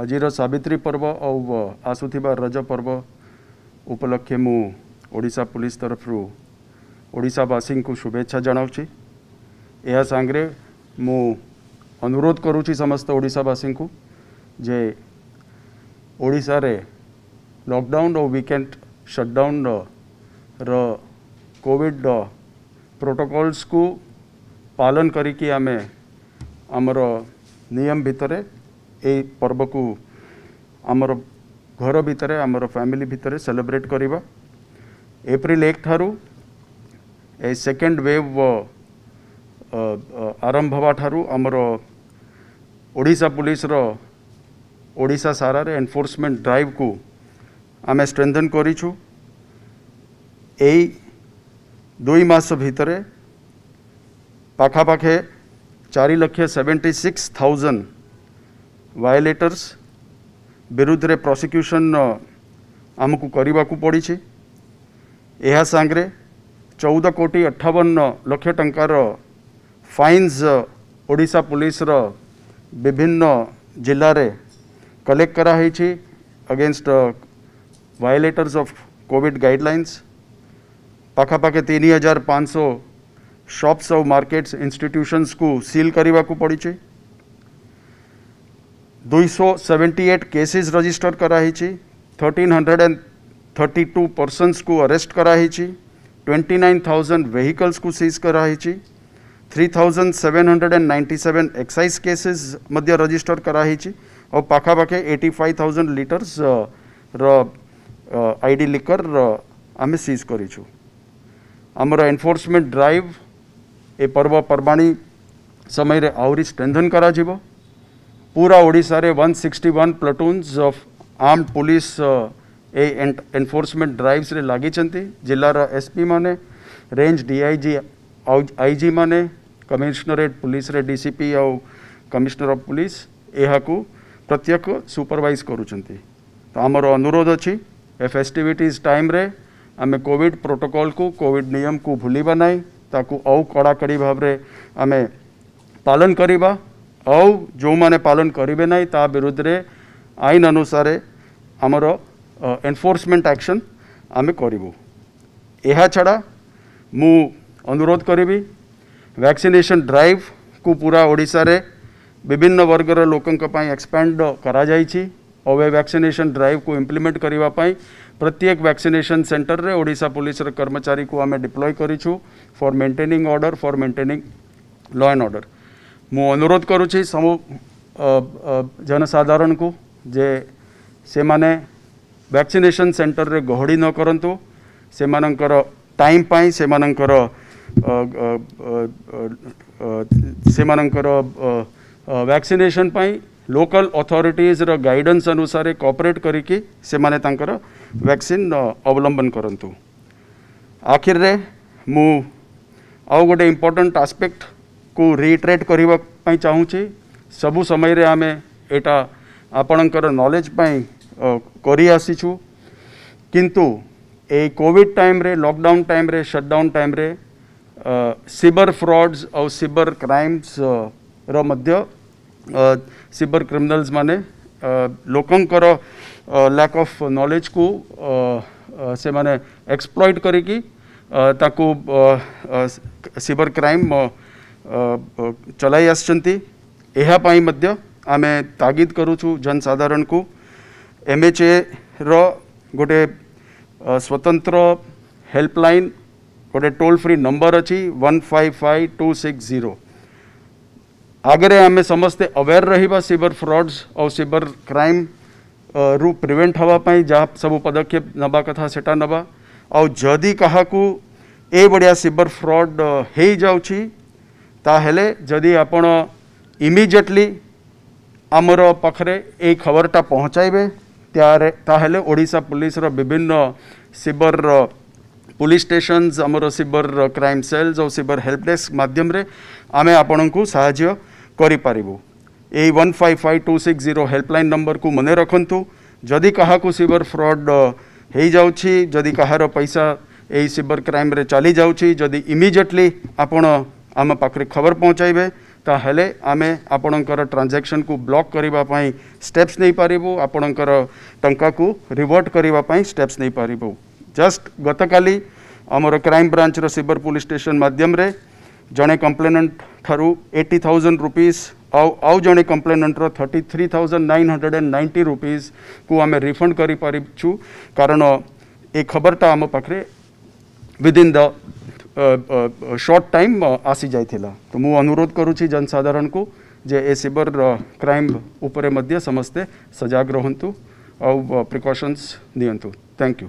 ଆଜିର ସାବିତ୍ରୀ ପର୍ବ ଆଉ ଆସୁଥିବା ରଜ ପର୍ବ ଉପଲକ୍ଷେ ମୁଁ ଓଡ଼ିଶା ପୁଲିସ ତରଫରୁ ଓଡ଼ିଶାବାସୀଙ୍କୁ ଶୁଭେଚ୍ଛା ଜଣାଉଛି। ଏହା ସାଙ୍ଗରେ ମୁଁ ଅନୁରୋଧ କରୁଛି ସମସ୍ତ ଓଡ଼ିଶାବାସୀଙ୍କୁ ଯେ ଓଡ଼ିଶାରେ ଲକଡାଉନ୍ ଓ ୱିକେଣ୍ଡ ସଟଡାଉନ୍ର କୋଭିଡ଼ ପ୍ରୋଟୋକଲ୍ସକୁ ପାଳନ କରିକି ଆମେ ଆମର ନିୟମ ଭିତରେ ଏଇ ପର୍ବକୁ ଆମର ଘର ଭିତରେ, ଆମର ଫ୍ୟାମିଲି ଭିତରେ ସେଲିବ୍ରେଟ୍ କରିବା। ଏପ୍ରିଲ 1 ଠାରୁ ଏ ସେକେଣ୍ଡ ୱେଭ୍ ଆରମ୍ଭ ହେବା ଠାରୁ ଆମର ଓଡ଼ିଶା ପୁଲିସର ଓଡ଼ିଶା ସାରାରେ ଏନଫୋର୍ସମେଣ୍ଟ ଡ୍ରାଇଭ୍କୁ ଆମେ ଷ୍ଟ୍ରେନ୍ଥେନ୍ କରିଛୁ। ଏଇ 2 ମାସ ଭିତରେ ପାଖାପାଖି 4,76,000 ଭାୟୋଲେଟର୍ସ ବିରୁଦ୍ଧରେ ପ୍ରସିକ୍ୟୁସନ୍ ଆମକୁ କରିବାକୁ ପଡ଼ିଛି। ଏହା ସାଙ୍ଗରେ 14 କୋଟି 58 ଲକ୍ଷ ଟଙ୍କାର ଫାଇନ୍ସ ଓଡ଼ିଶା ପୁଲିସର ବିଭିନ୍ନ ଜିଲ୍ଲାରେ କଲେକ୍ଟ କରାହେଇଛି against violators of COVID guidelines. ପାଖାପାଖି 3500 ସପ୍ସ ଆଉ ମାର୍କେଟ୍ସ ଇନଷ୍ଟିଟ୍ୟୁସନ୍ସକୁ ସିଲ୍ କରିବାକୁ ପଡ଼ିଛି। 278 କେସେସ୍ ରେଜିଷ୍ଟର କରାହେଇଛି। 1332 ପର୍ସନ୍ସକୁ ଆରେଷ୍ଟ କରାହେଇଛି। 29,000 ଭେହିକଲ୍ସକୁ ସିଜ୍ କରାହେଇଛି। 3797 ଏକ୍ସାଇଜ୍ କେସେସ୍ ମଧ୍ୟ ରେଜିଷ୍ଟର କରାହେଇଛି ଆଉ ପାଖାପାଖି 85,000 ଲିଟର୍ସ ର I D liquor ଆମେ ସିଜ୍ କରିଛୁ। ଆମର ଏନଫୋର୍ସମେଣ୍ଟ ଡ୍ରାଇଭ୍ ଏ ପର୍ବପର୍ବାଣୀ ସମୟରେ ଆହୁରି ଷ୍ଟ୍ରେନ୍ଥେନ୍ କରାଯିବ। ପୁରା ଓଡ଼ିଶାରେ 161 platoons of armed police a enforcement ଡ୍ରାଇଭ୍ସରେ ଲାଗିଛନ୍ତି। ଜିଲ୍ଲାର ଏସ୍ ପି ମାନେ, ରେଞ୍ଜ ଡିଆଇଜି I G ମାନେ, କମିଶନରେଟ୍ ପୁଲିସରେ ଡି ସି ପି ଆଉ କମିଶନର ଅଫ୍ ପୁଲିସ ଏହାକୁ ପ୍ରତ୍ୟେକ ସୁପରଭାଇଜ କରୁଛନ୍ତି। ତ ଆମର ଅନୁରୋଧ ଅଛି ଏ ଫେଷ୍ଟିଭିଟିଜ୍ ଟାଇମ୍ରେ ଆମେ କୋଭିଡ଼ ପ୍ରୋଟୋକଲ୍କୁ, କୋଭିଡ଼ ନିୟମକୁ ଭୁଲିବା ନାହିଁ, ତାକୁ ଆଉ କଡ଼ାକଡ଼ି ଭାବରେ ଆମେ ପାଳନ କରିବା। ଆଉ ଯେଉଁମାନେ ପାଳନ କରିବେ ନାହିଁ ତା ବିରୁଦ୍ଧରେ ଆଇନ ଅନୁସାରେ ଆମର ଏନଫୋର୍ସମେଣ୍ଟ ଆକ୍ସନ୍ ଆମେ କରିବୁ। ଏହା ଛଡ଼ା ମୁଁ ଅନୁରୋଧ କରିବି ଭ୍ୟାକ୍ସିନେସନ୍ ଡ୍ରାଇଭ୍କୁ ପୁରା ଓଡ଼ିଶାରେ ବିଭିନ୍ନ ବର୍ଗର ଲୋକଙ୍କ ପାଇଁ ଏକ୍ସପାଣ୍ଡ କରାଯାଇଛି। ଆଉ ଏ ଭ୍ୟାକ୍ସିନେସନ୍ ଡ୍ରାଇଭ୍କୁ ଇମ୍ପ୍ଲିମେଣ୍ଟ କରିବା ପାଇଁ ପ୍ରତ୍ୟେକ ଭ୍ୟାକ୍ସିନେସନ୍ ସେଣ୍ଟରରେ ଓଡ଼ିଶା ପୁଲିସର କର୍ମଚାରୀକୁ ଆମେ ଡିପ୍ଲୟ କରିଛୁ for maintaining order, for maintaining law and order. ମୁଁ ଅନୁରୋଧ କରୁଛି ସବୁ ଜନସାଧାରଣଙ୍କୁ ଯେ ସେମାନେ ଭ୍ୟାକ୍ସିନେସନ୍ ସେଣ୍ଟରରେ ଗହଳି ନ କରନ୍ତୁ। ସେମାନଙ୍କର ଟାଇମ୍ ପାଇଁ, ସେମାନଙ୍କର ଭ୍ୟାକ୍ସିନେସନ୍ ପାଇଁ ଲୋକାଲ୍ ଅଥରିଟିଜ୍ର ଗାଇଡାନ୍ସ ଅନୁସାରେ କୋଅପରେଟ୍ କରିକି ସେମାନେ ତାଙ୍କର ଭ୍ୟାକ୍ସିନ୍ ଅବଲମ୍ବନ କରନ୍ତୁ। ଆଖିରରେ ମୁଁ ଆଉ ଗୋଟେ ଇମ୍ପୋର୍ଟାଣ୍ଟ ଆସ୍ପେକ୍ଟକୁ ରିଇଟରେଟ୍ କରିବା ପାଇଁ ଚାହୁଁଛି। ସବୁ ସମୟରେ ଆମେ ଏଇଟା ଆପଣଙ୍କର ନଲେଜ୍ ପାଇଁ କରି ଆସିଛୁ, କିନ୍ତୁ ଏଇ କୋଭିଡ଼ ଟାଇମ୍ରେ, ଲକଡାଉନ୍ ଟାଇମ୍ରେ, ସଟଡାଉନ୍ ଟାଇମ୍ରେ ସାଇବର ଫ୍ରଡ୍ସ ଆଉ ସାଇବର କ୍ରାଇମ୍ସର ମଧ୍ୟ ସାଇବର କ୍ରିମିନାଲ୍ସ ମାନେ ଲୋକଙ୍କର ଲ୍ୟାକ୍ ଅଫ୍ ନଲେଜକୁ ସେମାନେ ଏକ୍ସପ୍ଲଏଟ୍ କରିକି ତାକୁ ସାଇବର କ୍ରାଇମ୍ ଚଲାଇ ଆସିଛନ୍ତି। ଏହା ପାଇଁ ମଧ୍ୟ ଆମେ ତାଗିଦ କରୁଛୁ ଜନସାଧାରଣଙ୍କୁ। ଏମ୍ ଏଚ୍ ଏର ଗୋଟେ ସ୍ୱତନ୍ତ୍ର ହେଲ୍ପଲାଇନ୍, ଗୋଟେ ଟୋଲ୍ ଫ୍ରି ନମ୍ବର ଅଛି 155260। ଆଗରେ ଆମେ ସମସ୍ତେ ଆୱେର୍ ରହିବା ସାଇବର ଫ୍ରଡ୍ସ ଆଉ ସାଇବର କ୍ରାଇମ୍ ରୁ ପ୍ରିଭେଣ୍ଟ ହେବା ପାଇଁ ଯାହା ସବୁ ପଦକ୍ଷେପ ନେବା କଥା ସେଟା ନେବା। ଆଉ ଯଦି କାହାକୁ ଏଭଳିଆ ସାଇବର ଫ୍ରଡ୍ ହେଇଯାଉଛି, ତାହେଲେ ଯଦି ଆପଣ ଇମିଡ଼ିଏଟଲି ଆମର ପାଖରେ ଏଇ ଖବରଟା ପହଞ୍ଚାଇବେ, ତାହେଲେ ଓଡ଼ିଶା ପୁଲିସର ବିଭିନ୍ନ ସାଇବର ପୁଲିସ ଷ୍ଟେସନ୍ସ, ଆମର ସାଇବର କ୍ରାଇମ୍ ସେଲ୍ସ ଆଉ ସାଇବର ହେଲ୍ପ ଡେସ୍କ ମାଧ୍ୟମରେ ଆମେ ଆପଣଙ୍କୁ ସାହାଯ୍ୟ କରିପାରିବୁ। ଏଇ 155260 ହେଲ୍ପଲାଇନ୍ ନମ୍ବରକୁ ମନେ ରଖନ୍ତୁ। ଯଦି କାହାକୁ ସାଇବର ଫ୍ରଡ୍ ହେଇଯାଉଛି, ଯଦି କାହାର ପଇସା ଏଇ ସାଇବର କ୍ରାଇମ୍ରେ ଚାଲି ଯାଉଛି, ଯଦି ଇମିଡ଼ିଏଟଲି ଆପଣ ଆମ ପାଖରେ ଖବର ପହଞ୍ଚାଇବେ, ତାହେଲେ ଆମେ ଆପଣଙ୍କର ଟ୍ରାଞ୍ଜାକ୍ସନ୍କୁ ବ୍ଲକ୍ କରିବା ପାଇଁ ଷ୍ଟେପ୍ସ ନେଇପାରିବୁ, ଆପଣଙ୍କର ଟଙ୍କାକୁ ରିଭର୍ଟ କରିବା ପାଇଁ ଷ୍ଟେପ୍ସ ନେଇପାରିବୁ। ଜଷ୍ଟ ଗତକାଲି ଆମର କ୍ରାଇମ୍ ବ୍ରାଞ୍ଚର ସାଇବର ପୋଲିସ ଷ୍ଟେସନ ମାଧ୍ୟମରେ ଜଣେ କମ୍ପ୍ଲେନାଣ୍ଟ ଠାରୁ 80,000 ରୁପିଜ୍ ଆଉ ଜଣେ କମ୍ପ୍ଲେନାଣ୍ଟର 33,990 ରୁପିଜ୍କୁ ଆମେ ରିଫଣ୍ଡ କରିପାରିଛୁ, କାରଣ ଏ ଖବରଟା ଆମ ପାଖରେ ୱିଦିନ୍ ଦ ସର୍ଟ ଟାଇମ୍ ଆସିଯାଇଥିଲା। ତ ମୁଁ ଅନୁରୋଧ କରୁଛି ଜନସାଧାରଣକୁ ଯେ ଏ ସାଇବର କ୍ରାଇମ୍ ଉପରେ ମଧ୍ୟ ସମସ୍ତେ ସଜାଗ ରୁହନ୍ତୁ ଆଉ ପ୍ରିକସନ୍ସ ନିଅନ୍ତୁ। Thank you.